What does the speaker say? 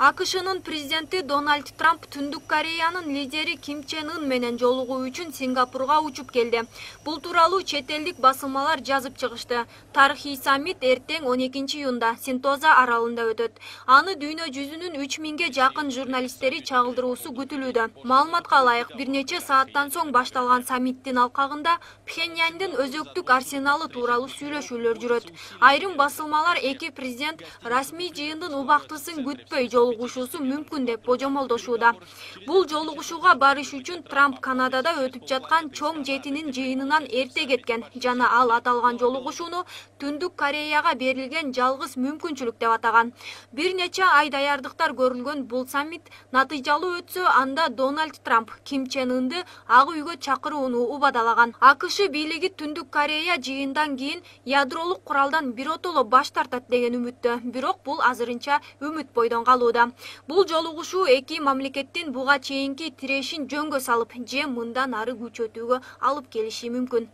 АКШнын президенти Дональд Трамп Түндүк Кореянын лидери Ким Чен Ын менен жолугуу үчүн Сингапурга учуп келди. Бул тууралуу чет элдик басылмалар жазып чыгышты. Тарыхый саммит эртең 12 июнда Сентоза аралында өтөт. Аны дүйнө жүзүнүн 3000ге жакын журналисттери чагылдыруусу күтүлүүдө. Маалыматка ылайык, бир нече сааттан соң башталган саммиттин алкагында Пхеньяндын өзөктүк арсеналы тууралуу сүйлөшүүлөр жүрөт. Айрым басылмалар эки президент расмий жыйындын убактысын күтпөй жолугушуусу мүмкүн деп божомолдошууда. Бул жолугушууга барыш үчүн Трамп Канадада өтүп жаткан чоң жетинин жыйынынан эрте кеткен жана ал аталган жолугушууну Түндүк Кореяга берилген жалгыз мүмкүнчүлүк деп атаган. Бир нече ай даярдыктар көрүлгөн бул саммит натыйжалуу өтсө, анда Дональд Трамп Ким Чен Ынды ак үйгө чакырууну убадалаган. АКШ бийлиги Түндүк Корея жыйындан кийин ядролук куралдан биротоло баш тартат деген үмүттө, бирок бул азырынча үмүт бойдон калууда. Бул жолугушуу эки мамлекеттин буга чейинки тирешин жөнгө салып, же мындан ары күчөтүүгө алып келиши мүмкүн.